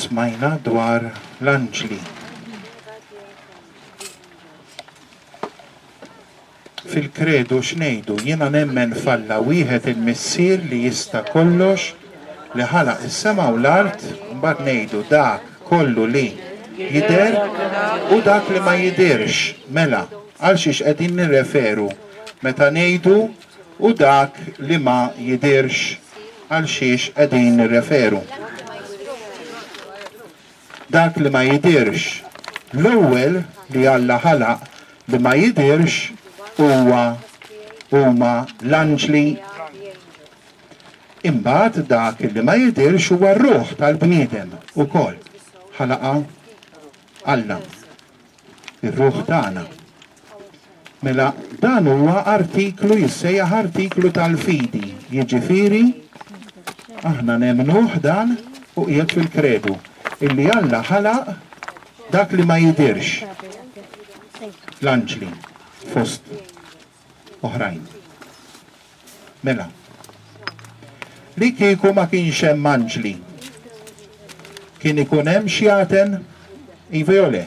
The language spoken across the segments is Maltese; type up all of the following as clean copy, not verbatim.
Smajna dwar l-anġli. Fil-kredu x'ngħidu? Jiena nemmen f'Alla wieħed il-Missier li jista' kollox, li ħalaq is-sema u l-art, mbagħad ngħidu dak kollu li jidher u dak li ma jidhirx. Mela, għal xiex qegħdin nirreferu meta ngħidu u dak li ma jidhirx għal xiex qegħdin nirreferu? Dak li ma jidhirx. L-ewwel li Alla ħalaq li ma jidhirx huwa huma l-anġli. Imbagħad dak li ma jidhirx huwa r-ruħ tal-bniedem ukoll. Ħalaqha Alla. Ir-ruħ tagħna. Mela dan huwa artiklu jissejjaħ artiklu tal-fidi, jiġifieri aħna nemmnuh dan u qiegħed fil-kredu illi Alla ħalaq dak li ma jidhirx, l-anġli fost oħrajn. Mela, li kieku ma kienx hemm anġli, kien ikun hemm xjaten? Iva jew le?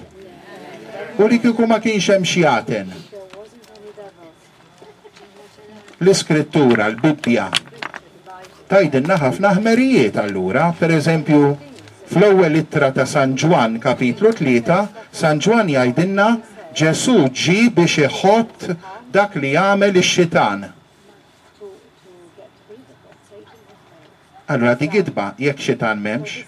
U li kieku ma kienx hemm xjaten? L-Iskrittura, l-Bibbja, tgħidilna ħafna ħmerijiet allura, pereżempju, fl-ewwel ittra ta' San Ġwann kapitlu 3, San Ġwann jgħidilna Ġesù ġie biex iħott dak li għamel ix-xitan. Allura di gidba jekk xitan m'hemmx.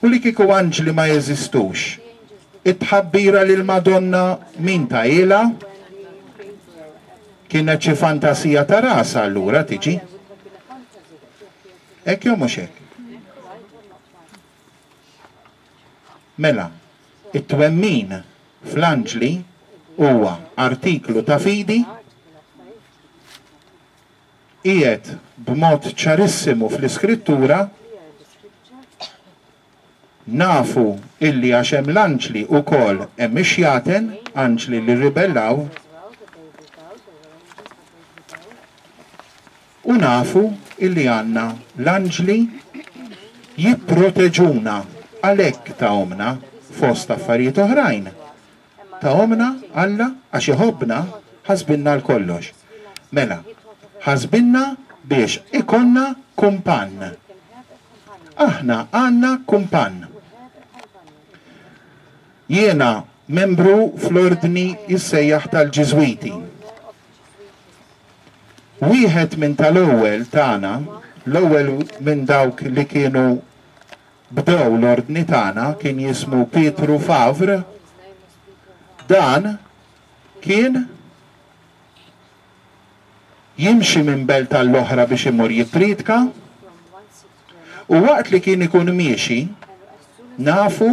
U li kieku anġli ma jeżistux, it-tħabbira lill-Madonna min tahielha? Kienet xi fantasija ta' rasha allura tiġi? Hekk jew mhux hekk? Mela, it-twemmin fl-anġli huwa artiklu ta' fidi, Qiegħed b'mod ċarissimu fl-Iskrittura, nafu illi għax hemm l-anġli wkoll hemm ix-xjaten, anġli li rribellaw, u nafu illi għandna l-anġli jipproteġuna għalhekk tahomna fost affarijiet oħrajn. Tahomna Alla għax iħobbna ħasbilna għal kollox. Mela, ħasbilna biex ikollna kumpann. Aħna għandna kumpann. Jiena membru fl-ordni jissejjaħ tal-Ġiżwiti. Wieħed minn tal-ewwel tagħna, l-ewwel minn dawk li kienu bdew l-ordni tagħna kien jismu Pietru Favre, dan kien jimxi minn belt għall-oħra biex imur jippriedka u waqt li kien ikun miexi, nafu,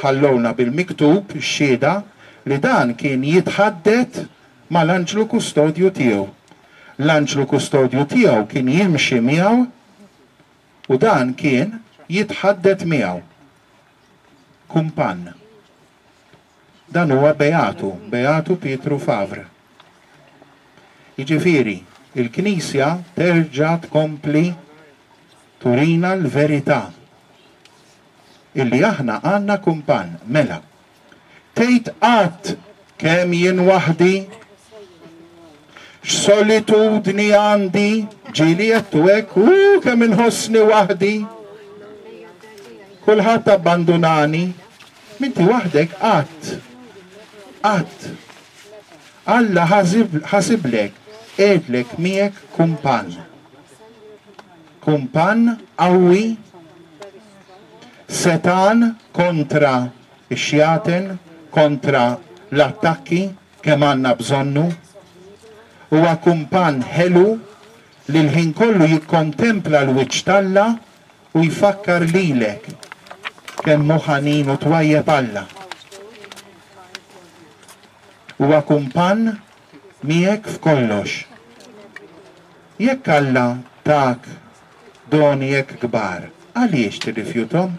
ħallowna bil-miktub xhieda li dan kien jitħaddet mal-anġlu kustodju tiegħu. L-anġlu kustodju tiegħu kien jimxi miegħu U dan kien jitħaddet miegħu. Kumpann. Dan huwa Beatu, Beatu Pietru Favre. Jiġifieri, il-Knisja terġa' tkompli turina l-verità illi aħna għandna kumpann. Mela, Tgħid qatt kemm jien waħdi? X'solitudni għandi? Ġieli għedtu hekk, u kemm inħossni waħdi. Kulħadd abbandunani. M'inti waħdek qatt. Qatt. Alla ħasiblek, qiegħdlek miegħek kumpann. Kumpann qawwi, setgħan kontra ix-xjaten, kontra l-attakki, kemm għandna bżonnu. Huwa kumpann ħelu li l-ħin kollu jikkontempla l-wiċċ t'Alla u jfakkar lilek kemm hu ħanin u twajjeb Alla. Huwa kumpann miegħek f'kollox. Jekk Alla tak doni hekk kbar, għaliex tirrifjuthom?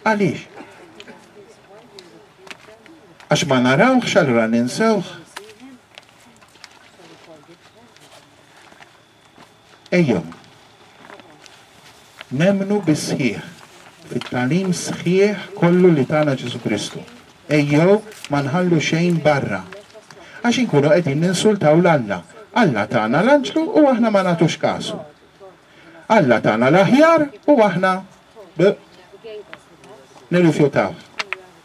Għaliex? Għax ma narawhx allura ninsewh? Ejjew. Nemmnu bis-sħiħ fit-tagħlim sħiħ kollu li tana Ġesù Kristu. Ejjew ma nħallu xejn barra. Għax inkunu qegħdin ninsultaw 'l Alla. Alla tana l-anġlu u aħna ma nagħtux kasu. Alla tana l-aħjar u aħna b' nirrifjutawh.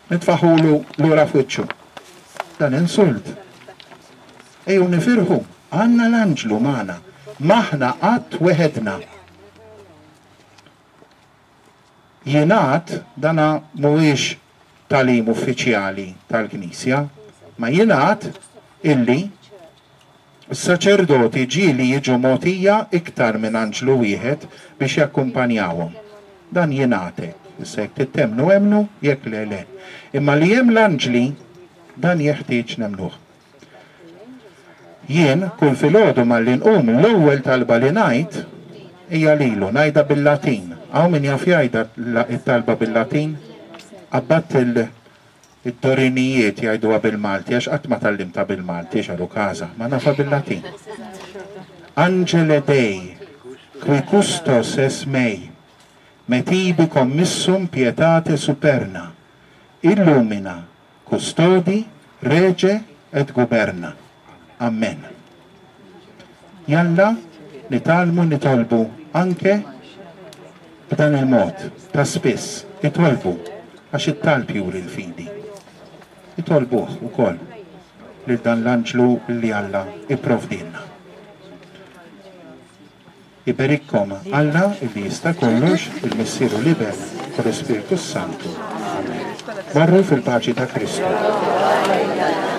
Nitfaħulu lura f'wiċċu. Dan insult. Ejjew nifirħu, għandna l-anġlu magħna. M'aħna qatt weħedna. Jingħad, dana mhuwiex tagħlim uffiċjali tal-Knisja, ma jingħad illi s-saċerdoti ġieli jiġu mogħtija iktar minn anġlu wieħed biex jakkumpanjawhom. Dan jingħad hekk. Issa jekk trid temmnu emmnu, jekk le le. Imma li hemm l-anġli, dan jeħtieġ nemmnuh. Jien, kull filgħodu malli nqum, l-ewwel talba li ngħid hija lilu, ngħidha bil-Latin. Hawn min jaf jgħidha t-talba bil-Latin? Qabbadt id-dorinijiet jgħiduha bil-Malti għax qatt ma tgħallimtha bil-Malti, x'għalu każa, ma nafha bil-Latin. Angele Dei, qui custos es mei, me tibi commissum pietate superna, illumina, Custodi, Rege et Guberna. Amen. Jalla nitgħallmu nitolbu anke b'dan il-mod, ta' spiss, itolbu, għax it-talb juri l-fidi. Itolbuh ukoll lil dan l-anġlu li Alla ipprovdielna. Iberikkom Alla illi jista' kollox, il-Missier u l-Iben u l-Ispirtu s-Santu. Amen. Morru fil-paċi ta' Kristu.